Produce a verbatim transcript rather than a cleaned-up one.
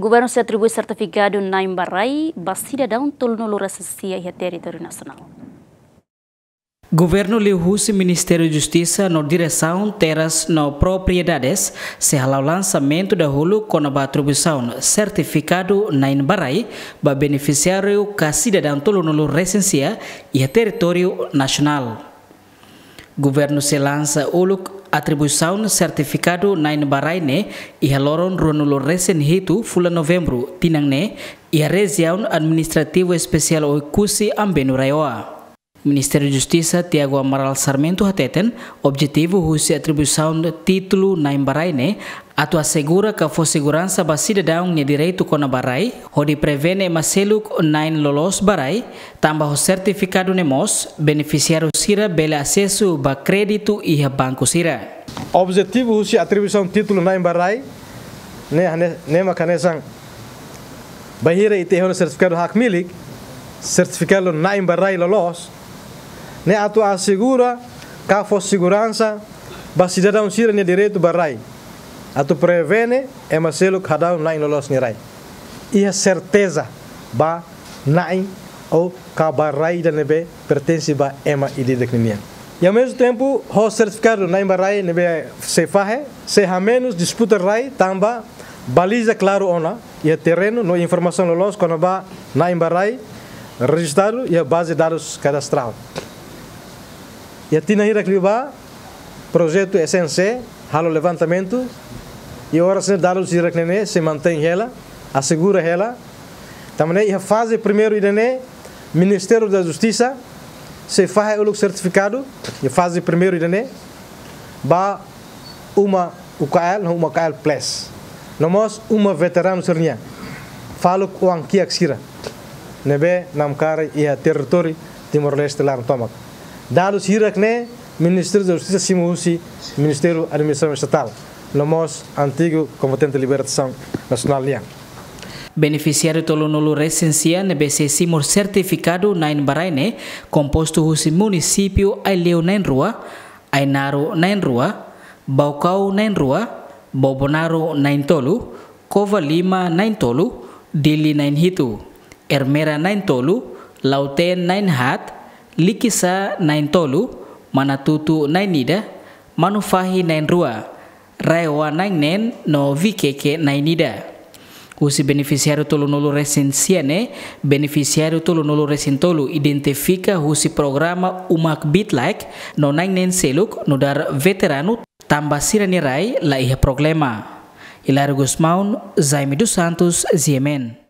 Governu sei atribui sertifikadu na'in ba rai ba sidadaun tolunulu resin sia iha territóriu nasionál. Governu liuhusi Ministériu Justisa no Diresaun Terras no Propriedades sei hala'o lansamentu dahuluk kona-ba atribuisaun sertifikadu na'in ba rai ba benefisiáriu ka sidadaun tolunulu resin sia iha territóriu nasionál. Governu sei lansa uluk atribuisaun sertifikadu na'in ba rai ne'e iha loron ruanulu resin hitu fulan Novembru tinan ne'e iha Rejiaun Administrativu Espesiál Oekusi Ambenu RAEOA. Ministru Justisa Tiago Amaral Sarmento hateten, objetivu husi atribuisaun títulu na'in ba rai ne'e atu asegura ka fó seguransa ba sidadaun nia direitu kona-ba rai, hodi prevene ema seluk na'in loloos ba rai, tanba ho sertifikadu ne'e mós benefisiáriu sira bele asesu ba kréditu iha banku sira. Objetivu husi atribuisaun títulu na'in ba rai ne'e, ne'e, ne'e mak hanesan bainhira ita iha ona sertifikadu hakmilik, sertifikadu na'in ba rai loloos, ne'e atu asegura ka fó seguransa ba sidadaun sira-nia direitu ba rai, atu prevene ema seluk hadau na'in loloos nia rai. Iha serteza ba na'in ou ka ba rai ida ne'ebé pertense ba ema ida-idak ninian. I ao mesmo tempo, ho sertifikadu na'in ba rai ne'ebé sei fahe, sei hamenus disputa rai tanba baliza klaru ona iha terrenu no informasaun loloos kona-ba na'in ba rai rejistadu iha baze dadus kadastrál. Iha tinan hirak liubá, projetu S N C halo levantamentu, i oras ne'e dadus hirak ne'e sei mantein hela, asegura hela. Tanba ne'e iha faze primeiru ida-ne'e, Ministériu da Justisa sei fahe uluk sertifikadu iha faze primeiru ida-ne'e ba uma U K L no uma U K L Plus, no mós uma veteranu sira-nian, faluk oan-kiak sira ne'ebé namkari iha territóriu Timor-Leste laran tomak. Dadus hirak ne'e Ministériu da Justisa simu husi Ministériu Administrasaun Estatál, no mós antigu Kombatente Libertasaun Nasionál nian. Benefisiáriu tolunulu resin sia ne'ebé sei simu sertifikadu na'in ba rai ne'e kompostu husi munisípiu Aileu na'in-rua, Ainaro na'in-rua, Baucau na'in-rua, Bobonaro na'in-tolu, Covalima na'in-tolu, Dili na'in-hitu, Ermera na'in-tolu, Lautém na'in-haat, Likisá na'in-tolu, Manatuto na'in-ida, Manufahi na'in-rua, RAEOA na'in-neen no Viqueque na'in-ida. Husi benefisiáriu tolunulu resin sia ne'e, benefisiáriu tolunulu resin tolu identifika husi programa Uma Kbiit Laek no na'in-neen seluk nu'udar veteranu tanba sira-nia rai la iha problema. Hilário Gusmão, Jaime dos Santos, G M N.